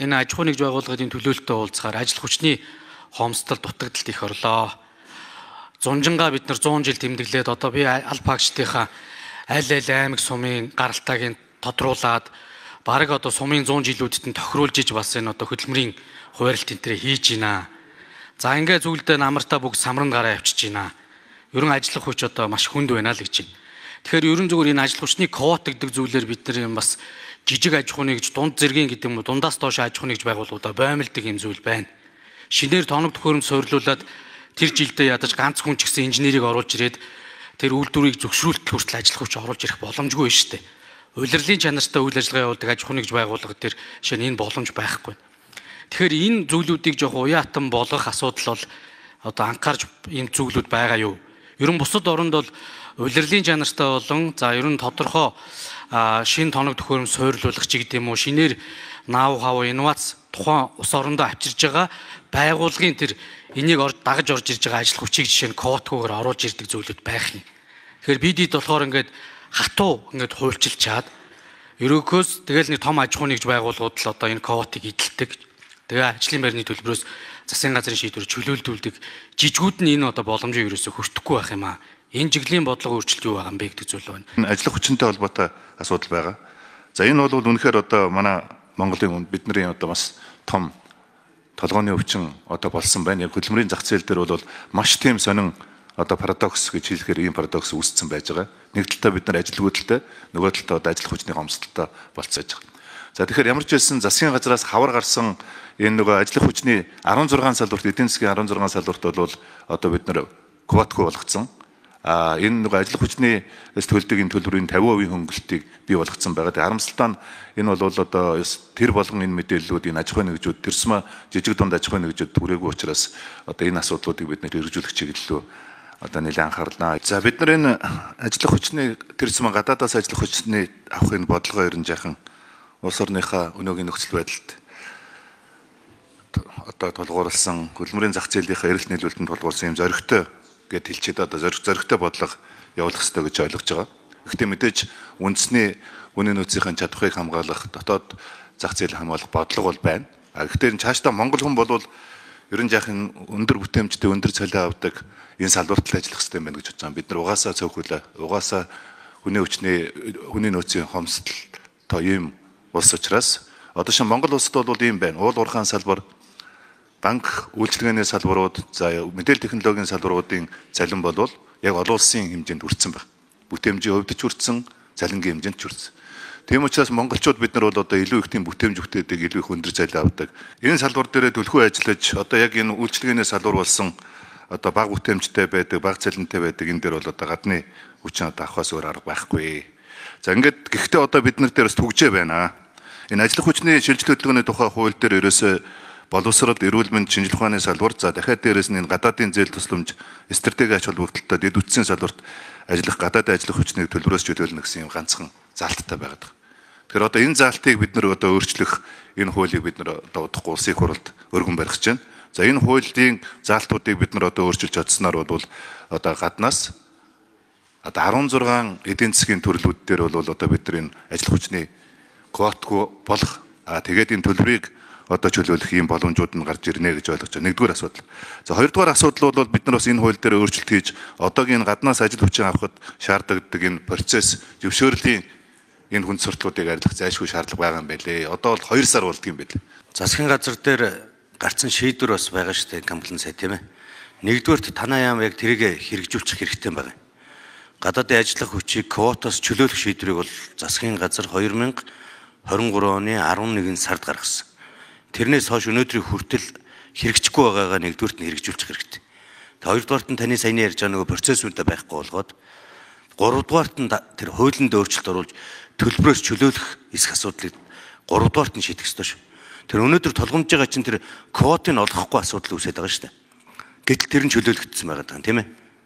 энэ аж ахуй нэгж байгууллагын төлөөлөлтөд уулзахаар ажил хүчний хомсдол дутагдалт их орлоо. Зунжингаа бид нар 100 жил тэмдэглээд одоо би аль багштынхаа аль аймаг сумын гаралтайг тодруулаад бараг одоо сумын 100 жилүүдэд нь тохируулж иж бас энэ одоо хөдөлмөрийн хуваарлт энтрээ хийж байна. За ингээ зүйлдээ намартаа бүгд самран гараа авчиж байна. Ерөн ажиллах хүч одоо маш хүнд байна л гэж байна. Тэгэхээр ерөн зүгээр энэ ажил хүчний квот гэдэг зүйлээр бид нар юм бас жижиг аж ахуйн нэгж дунд зэргийн гэдэг юм уу дундаас доош аж ахуйн нэгж байгууллагуудаа боомлдог юм зүйл байна. Шинээр тоног төхөөрөмж суйрлуулад тэр жилдээ ядаж ганц хүн ч гэсэн инженерийг оруулж ирээд тэр үйлдвэрийг зөвшөөрөлт хүртэл ажиллах хүч оруулж ирэх боломжгүй шүү дээ. Улирлын чанартай үйл ажиллагаа явуулдаг аж ахуйн нэгж байгууллага дээр шинэ энэ боломж байхгүй. Тэгэхээр энэ зүйлүүдийг жоох уяатан болгох асуудал бол одоо анхаарч энэ зүйлүүд байгаа юу? Ерөн бусад оронд бол улирлын чанартай болон за ерөн тодорхой шин тоног төхөөрөмж суйрлуулах ч гэдэг юм уу шинээр наав хав инновац тухайн ус орондоо авчирж байгаа байгууллагын тэр энийг дагаж орж ирж байгаа ажил хүчийг жишээ нь квотгүйгээр оруулж ирдэг зүйлүүд байх юм. Тэгэхээр бидэд болохоор ингээд хатуу ингээд хуульчилчаад ерөөхөөс тэгэл нэг том аж ахуйн нэгж байгууллагууд л одоо энэ квотыг эдэлдэг. Тэгээ ажлын байрны төлбөрөөс засгийн газрын шийдвэр чөлөөлдүүлдэг жижигүүд нь энэ одоо боломжийг ерөөсөө хүртэхгүй байх юм аа. Энэ чиглэлийн бодлого өөрчлөлт юу байгаа юм бэ гэдэг зүйл байна. Ажлах хүчинтэй холбоотой асуудал байгаа. За энэ бол үнэхээр одоо манай Монголын бидний одоо бас том толгойн өвчин одоо болсон байна. Яг хөдөлмөрийн зах зээл дээр бол маш тийм сонин одоо парадокс гэж хэлэхээр ийм парадокс үүссэн байж байгаа. Нэг талдаа бид нар ажилгүйдэлтэй, нөгөө талдаа одоо ажил хүчний хомсдолтой болцоож байгаа. За тэгэхээр ямар ч байсан засгийн газраас хавар гарсан энэ нөгөө ажил хүчний 16 салбарт эдийн засгийн 16 салбарт бол одоо бид нар квотгүй болгоцсон. Энэ нөгөө ажил хүчний төлдөгийн төлбөрийн 50% хөнгөлтийг бий болгоцсон байгаа. Тэгээ харамсалтай нь энэ бол одоо тэр болгон энэ мэдээллүүд энэ аж ахуйн нэгжүүд тэрсмэ жижиг дунд аж ахуйн нэгжүүд түрээгүй учраас одоо энэ асуудлуудыг бид нэр хэрэгжүүлэх чиглэлөө одоо нэлээд анхаарлаа. За бид нар энэ ажил хүчний тэрсмэ гадаадаас ажил хүчний авахын бодлогоо ерөн жаахан улс орныхаа өнөөгийн нөхцөл байдалд одоо тулгуурласан хөдөлмөрийн зах зээлийнхаа эрэлт нийлүүлэлтэнд тулгуурсан юм зоригтой гэд хэлчихэд одоо зоригтой бодлого явуулах хэрэгтэй гэж ойлгож байгаа. Гэхдээ мэдээж үндэсний үнийн нөөцийн чадварыг хамгаалах дотоод зах зээл хамгаалах бодлого бол байна. Гэхдээ цаашдаа Монгол хүн бол ерөн жаахан өндөр бүтээмжтэй өндөр цалин авдаг энэ салбарт л ажиллах хэрэгтэй байна гэж бодож байгаа. Бид нар угаасаа цөөхөлөө угаасаа хүний нөөцийн хомсдол тоо ийм улс учраас одоо шин Монгол улсад бол ийм байна. Уул уурхайн салбар, банк үйлчилгээний салбарууд, за мэдээлэл технологийн салбаруудын цалин бол яг олон улсын хэмжээнд хүрсэн байна. Бүтээмжийн хувьд ч хүрсэн, цалингийн хэмжээнд ч хүрсэн. Тийм учраас монголчууд бид нар бол одоо илүү их тийм бүтээмж бүтээдэг, илүү их өндөр цалин авдаг. Энэ салбар дээрээ төлхөө ажиллаж одоо яг энэ үйлчилгээний салбар болсон одоо бага бүтээмжтэй байдаг, бага цалинтай байдаг энэ дээр бол одоо гадны хүчин одоо авахаас өөр арга байхгүй. За ингээд гэхдээ одоо бид нар дээр бас түгжээ байна. Энэ ажил хүчний шилжилт хөдөлгөөний тухай хууль дээр ерөөсөө боловсрол, эрүүл мэнд, шинжилгээ ухааны салбар, за дахиад дээрээс нь энэ гадаадын зээл тусламж, стратеги ач холбогдолтой дэд үтсийн салбарт ажиллах гадаадын ажил хүчнийг төлбөрөөс чөлөөлнө гэсэн юм ганцхан заалттай байгаад байна. Тэгэхээр одоо энэ заалтыг бид нар одоо өөрчлөх энэ хуулийг бид нар одоо удахгүй улсын хурлд өргөн барих гэж байна. За энэ хуулийн заалтуудыг бид нар одоо өөрчилж чадсанаар бол одоо гаднаас одоо 16 эдийн засгийн төрлүүд дээр бол одоо бид нар энэ ажил хүчний квотгүй болох тэгээд энэ төлбөрийг одоо чөлөөлөх ийм боломжууд нь гарч ирнэ гэж ойлгож байна. Нэгдүгээр асуудал. За хоёрдугаар асуудал бол бид нар бас энэ хууль дээр өөрчлөлт хийж одоогийн гаднаас ажил хүчин авахд шаардлагадаг энэ процесс зөвшөөрлийн энэ хүнд сурталчилгааг арилгах зайлшгүй шаардлага байгаа юм байлээ. Одоо бол 2 сар болдго юм байлээ. Засгийн газар дээр гарцсан шийдвэр бас байгаа шүү дээ комплайн сая тийм ээ. Нэгдүгээрт танаа яам яг тэрийг хэрэгжүүлчих хэрэгтэй байгаа. Гадаадын ажиллах хүчийг квотоос чөлөөлөх шийдвэрийг бол засгийн газар 2023 оны 11 сард гаргасан. Тэрнээс хойш өнөөдрийн хүртэл хэрэгжихгүй байгаагаа нэгдүгээрт нь хэрэгжүүлчих хэрэгтэй. Хоёрдугаарт нь таны саяны ярьж байгаа нөгөө процессуудаа байхгүй болгоод гуравдугаарт нь тэр хуулинд өөрчлөлт оруулж төлбөрөөс чөлөөлөх эсэх асуудлыг гуравдугаарт нь шийдэх ёстой шүү. Тэр өнөөдөр толгомж байгаа чинь тэр квотыг олгохгүй асуудал үүсээд байгаа шүү дээ. Гэтэл тэр нь чөлөөлөгдсөн байгаа даа тийм ээ.